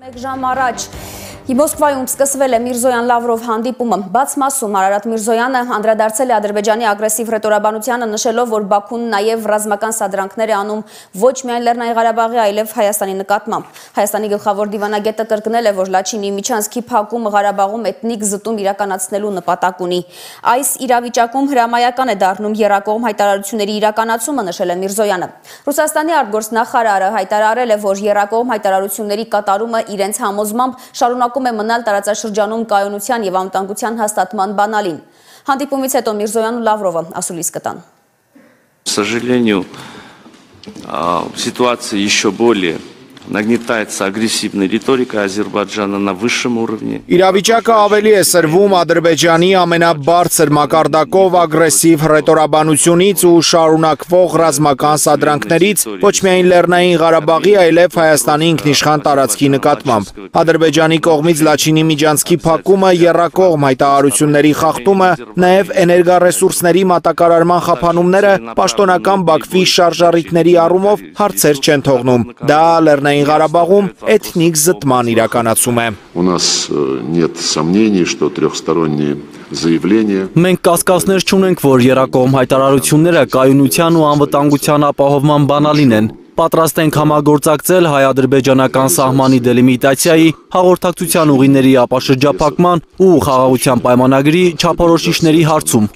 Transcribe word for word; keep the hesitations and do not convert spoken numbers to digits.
Մեկ ժամ առաջ Մոսկվայում սկսվել է Միրզոյան-Լավրով հանդիպումը։ Բաց մասում Արարատ Միրզոյանը անդրադարձել է Ադրբեջանի ագրեսիվ հռետորաբանությանը, նշելով, որ Բաքուն նաև ռազմական սադրանքներ է անում ոչ միայն Լեռնային Ղարաբաղի, այլև Հայաստանի նկատմամբ։ Հայաստանի գլխավոր դիվանագետը կրկնել է, որ Լաչինի միջանցքի փակումը Ղարաբաղում էթնիկ զտում իրականացնելու նպատակ ունի։ Այս իրավիճակում հրամայական է դառնում եռակողմ հայտարարությունների իրականացումը, նշել է Միրզոյանը։ Ռուսաստանի արտգործնախարարը հայտարարել է, որ եռակողմ հայտարարությունների կատարումը իրենց համոզմամբ շարունակում է մնալ տարածաշրջանում կայունության եւ անվտանգության հաստատման բանալին։ Հանդիպումից հետո Միրզոյանն ու Լավրովը ասուլիս կտան։ К сожалению, ситуация еще более նագնիտայց ագրեսիվնի ռիտորիկա Ադրբեջանը на высшем уровне. Իրավիճակը ավելի է սրվում Ադրբեջանի ամենաբարձր մակարդակով ագրեսիվ հռետորաբանությունից ու շարունակվող ռազմական սադրանքներից ոչ միայն Լեռնային Ղարաբաղի, այլև Հայաստանի ինքնիշխան տարածքի նկատմամբ։ Ադրբեջանի կողմից Լաչինի միջանցքի փակումը, եռակողմ հայտարարությունների խախտումը, նաև էներգառեսուրսների մատակարարման խափանումները պաշտոնական Բաքվի շարժառիթների առումով հարցեր չեն թողնում։ Դա Լեռնային Ղարաբաղում էթնիկ զտման իրականացում է։ У нас нет сомнений, что трехсторонние заявления. Մենք կասկածներ չունենք, որ եռակողմ հայտարարությունները կայունության ու անվտանգության ապահովման բանալին են։ Պատրաստ ենք համագործակցել հայ-ադրբեջանական սահմանի դելիմիտացիայի, հաղորդակցության ուղիների ապաշրջափակման ու խաղաղության պայմանագրի չափորոշիչների հարցում։